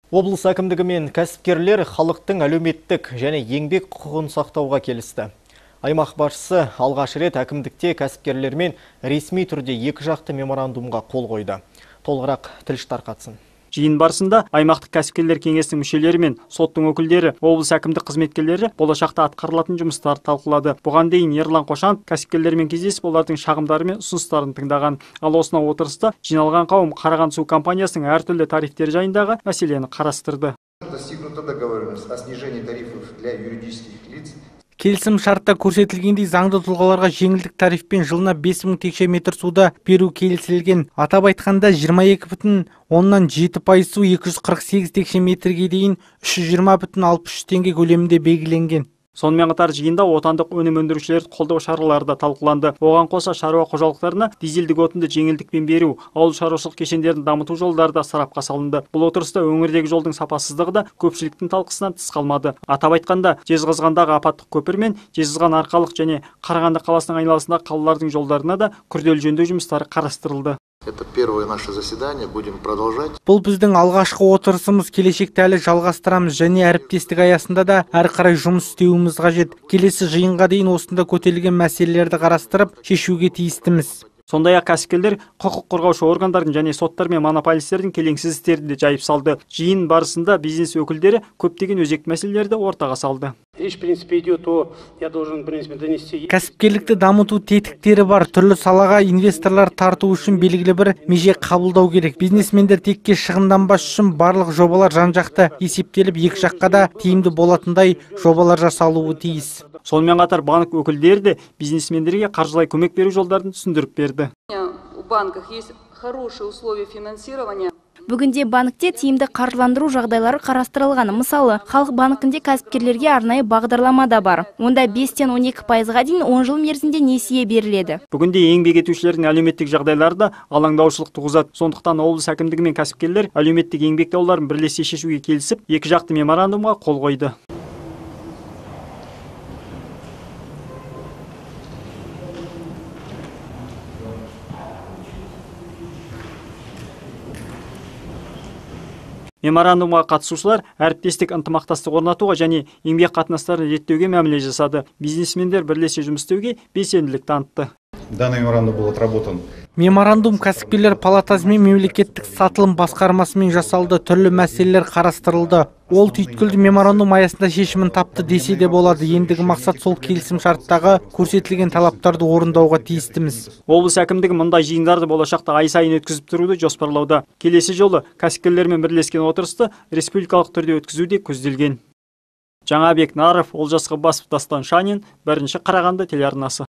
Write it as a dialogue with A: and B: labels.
A: Облыс әкімдігі мен кәсіпкерлер халықтың әлеуметтік және еңбек құқығын сақтауға келісті. Аймақ басшысы алғаш рет әкімдікте кәсіпкерлермен ресми түрде екі жақты меморандумға қол қойды. Толығырақ тілші тарқатсын.
B: Жиын барысында аймақтық кәсіпкерлер кеңесінің мүшелері мен соттың өкілдері, облыс әкімдік қызметкерлері болашақта атқарылатын жұмыстарды талқылады. Бұған дейін Ерлан Қошанов кәсіпкерлермен кездесіп, олардың шағымдары мен ұсыныстарын тыңдаған. Ал осынау отырыста жиналған қауым Қараған су компаниясының әртүрлі тарифтері жайындағы мәселені қарастырды.
C: Келісім шартта көрсетілгендей заңды тұлғаларға жеңілдік тарифпен жылына 5000 текше метр суды беру келісілген. Атап айтқанда 22,7% су 248 текше метрге дейін 320,63 теңге көлемінде белгіленген.
B: Сонымен қатар жиында отандық өнім өндірушілерді қолдау шаралары да талқыланды. Оған қоса шаруа қожалықтарына дизельдік отынды жеңілдікпен беру, ауыл шаруашылық кешендерін дамыту жолдары да сарапқа салынды. Бұл отырыста өңірдегі жолдың сапасыздығы да көпшіліктің талқысынан тыс қалмады. Атап айтқанда, Жезқазғандағы апаттық көпір мен Жезқазған арқалық және Қарағанды қаласының айналасындағы қалалардың жолдарына да күрделі жөндеу жұмыстары қарастырылды.
D: Это первое наше заседание, будем продолжать.
C: Бұл біздің алғашқы отырысымыз, келешекте әлі жалғастырамыз және әріптестік аясында да әрі қарай жұмыс істеуіміз қажет. Келесі жиынға дейін осында көтерілген мәселелерді қарастырып, шешуге тиістіміз.
B: Сондай-ақ кәсіпкерлер құқық қорғаушы органдардың және соттар мен монополистердің келеңсіз істерін де жайып салды. Жиын барысында бизнес өкілдері көптеген өзекті мәселелерді ортаға салды.
C: Кәсіпкерлікті дамыту тетіктері бар. Түрлі салаға инвесторлар тарту үшін белгілі бір меже қабылдау керек. Бизнесмендер текке шығынданбас үшін барлық жобалар жан-жақты есептеліп, екі жаққа да тиімді болатындай жобалар жасалуы тиіс.
B: Сонымен қатар банк өкілдері де бизнесмендерге қаржылай көмек беру жолдарын түсіндіріп берді.
E: Бүгінде банкте тиімді қаржыландыру жағдайлары қарастырылған. Мысалы, халық банкінде кәсіпкерлерге арнайы бағдарлама да бар. Онда 5-тен 12%-ға дейін 10 жыл мерзімде несие беріледі.
B: Бүгінде еңбек етушілердің әлеуметтік жағдайлары да алаңдаушылық туғызады. Сондықтан облыс әкімдігі мен кәсіпкерлер әлеуметтік еңбек дауларын бірлесе шешуге келісіп, екі жақты меморандумға қол қойды. Меморандумға қатысушылар әріптестік ынтымақтастық орнатуға және еңбек қатынастарын реттеуге мәміле жасады. Бизнесмендер бірлесе жұмыс істеуге белсенділік танытты.
F: Данный меморандум был отработан.
C: Меморандум кәсіпкерлер палатасы мен мемлекеттік сатылым басқармасымен жасалды, түрлі мәселелер қарастырылды. Ол түйткілді меморандум аясында шешімін тапты десе де болады. Ендігі мақсат сол келісім шарттағы көрсетілген талаптарды орындауға тиістіміз.
B: Облыс әкімдігі мұндай жиындарды болашақта ай сайын өткізіп тұруды жоспарлауда. Келесі жолы кәсіпкерлермен бірлескен отырысты республикалық түрде өткізу де көзделген. Жаңабек Наров, Олжас Ғаббасов, Дастан Шанин, 1-ші Қарағанды телеарнасы.